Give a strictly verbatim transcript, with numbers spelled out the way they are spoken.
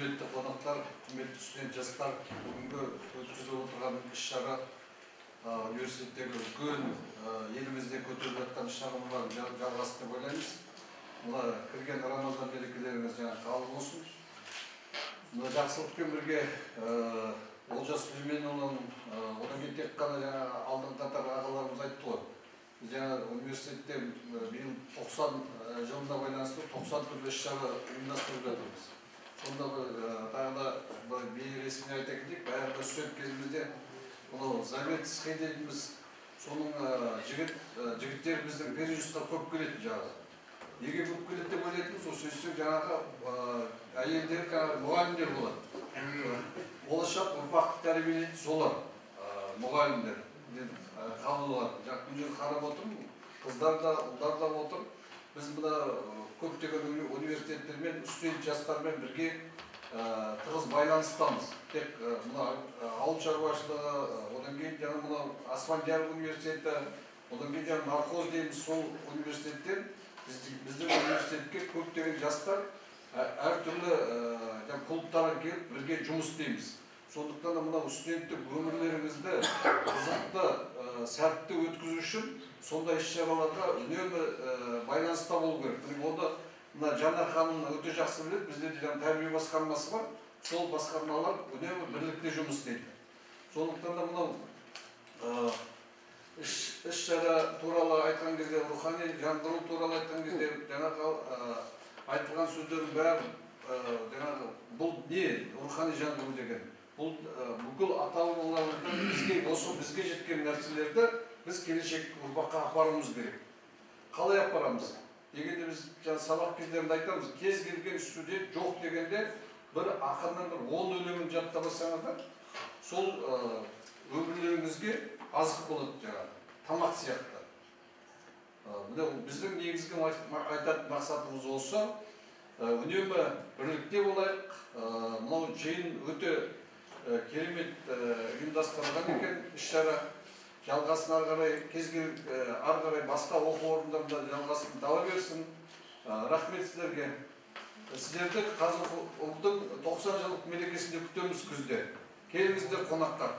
Құрметті қонақтар, құрметті студент жастар, бүгінгі өткізіліп отырған іс-шара университеттегі үлкен елімізде көтеріліп жатқан іс-шаралардың жалғасы деп ойлаймыз. Мына кірген Рамазан мерекелеріңіз жаңа қабыл болсын. Мына жақсылықпен бірге Олжас Сүлейменұлының одан кейін тек қана жаңа алдын қатар ағаларымыз айтты ғой. Біз жаңа университетте биыл тоқсан жылына байланысты тоқсан түрлі іс-шара ұйымдастырып жатырмыз. Сонда тағы да бейресми айта кетейік, баяғыда студент кезімізде мынау Заветский дейтінбіз, соның жігіттеріміздің пережүстқа көп келетін жағы. Неге көп келеді деп ойлайтынбыз, осы сөзсек жаңағы әйелдер мұғалімдер болады. Болашақ ұрпақты тәрбиелейтін солар, мұғалімдер қабыл алады. Жақын жерді қарап отырмын, қыздар да, ұлдар да отыр. Біз мына көптеген университеттермен, студент жастармен бірге тығыз байланыстамыз. Тек мына ауыл шаруашылығы, одан кейін жаңа мына Аспандияр университеті, одан кейін жаңа нархоз дейміз, сол университеттер біздің университетке көптеген жастар әртүрлі клубтарға келіп бірге жұмыс істейміз. Сондықтан да мына студенттік өмірлеріңізді қызықты, сәтті өткізу үшін сондай іс-шараларға үнемі байланыста болу керек. Оны мына Жанар ханым өте жақсы біледі, бізде де тәрбие басқармасы бар, сол басқармалар үнемі бірлікте жұмыс істейді. Сондықтан да мынау іс-шара туралы айтқан кезде, рухани жаңғыру туралы айтқан кезде, жаңағы айтылған сөздердің бәрі, бұл не рухани жаңғыру деген? Бұл бүкіл ата-бабаларымыздан бізге осы бізге жеткен нәрселерді біз келешек ұрпаққа апаруымыз керек. Қалай апарамыз? Дегенде біз сабақ кездерінде айтамыз, кез келген студент жоқ дегенде бір ақынның бір он өлеңін жаттамасаңыздар, сол өмірлеріңізге азық болады жаңағы, тамақ сияқты. Біздің негізгі айтатын мақсатымыз осы, үнемі бірлікте болайық. Мынау жиын өте керемет ұйымдастырылған екен іс-шара. Жалғасын ары қарай, кез келген ары қарай басқа оқу орындарында жалғасын таба берсін. Рахмет сіздерге. Сіздерді қазір ұлттың тоқсан жылдық мерекесінде күтеміз күзде. Келіңіздер қонаққа.